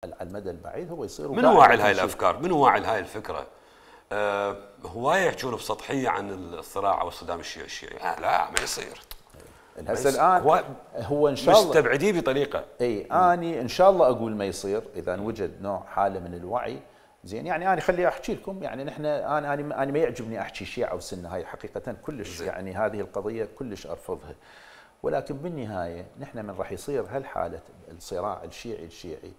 على المدى البعيد هو يصير. من واعي هاي الافكار؟ من واعي هاي الفكره؟ هوايه يحجون بسطحيه عن الصراع او الصدام الشيعي. لا ما يصير. هسه الان هو ان شاء الله مستبعديه بطريقه. اي اني ان شاء الله اقول ما يصير اذا وجد نوع حاله من الوعي. زين يعني انا خلي احكي لكم، يعني نحن انا ما يعجبني احكي شيعه وسنه، هاي حقيقه كلش يعني هذه القضيه كلش ارفضها. ولكن بالنهايه نحن من راح يصير هالحاله الصراع الشيعي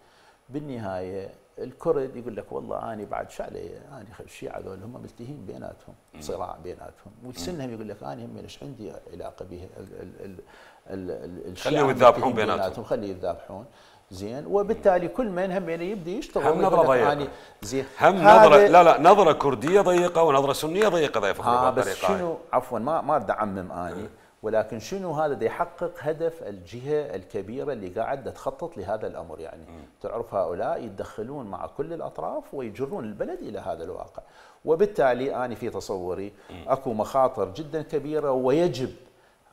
بالنهايه الكرد يقول لك والله انا بعد شو علي، انا الشيعه هذول هم ملتهين بيناتهم، صراع بيناتهم، والسنهم يقول لك انا هم ايش عندي علاقه به خليهم يتذابحون بيناتهم، خليه يتذابحون. زين، وبالتالي كل من هم يبدا يشتغل. هم نظره ضيقه، زين هم نظره لا نظره كرديه ضيقه ونظره سنيه ضيقه يفكروا بس شنو عفوا ما اريد اعمم اني، ولكن شنو هذا دا يحقق هدف الجهه الكبيره اللي قاعده تخطط لهذا الامر. يعني تعرف هؤلاء يتدخلون مع كل الاطراف ويجرون البلد الى هذا الواقع، وبالتالي انا في تصوري اكو مخاطر جدا كبيره، ويجب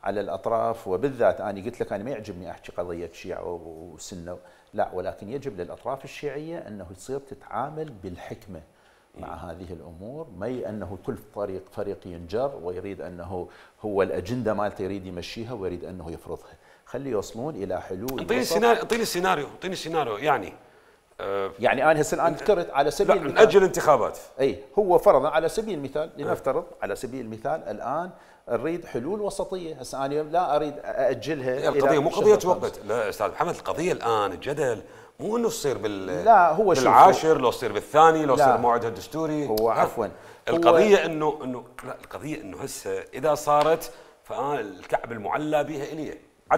على الاطراف، وبالذات انا قلت لك انا ما يعجبني احكي قضيه شيعه وسنه، لا، ولكن يجب للاطراف الشيعيه انه تصير تتعامل بالحكمه مع هذه الامور، ما انه كل فريق ينجر ويريد انه هو الاجنده مالته يريد يمشيها ويريد انه يفرضها، خلي يوصلون الى حلول. اعطيني سيناريو يعني انا هسه الان ذكرت على سبيل المثال نأجل انتخابات. اي هو فرضا على سبيل المثال، لنفترض على سبيل المثال الان نريد حلول وسطيه، هسه انا لا اريد ااجلها. القضيه مو قضيه وقت، لا استاذ محمد، القضيه الان الجدل مو انه تصير لا هو بالعاشر، لو تصير بالثاني، لو تصير موعدها الدستوري. هو عفوا القضيه انه لا، القضيه انه هسه اذا صارت فالكعب المعلى بها الي.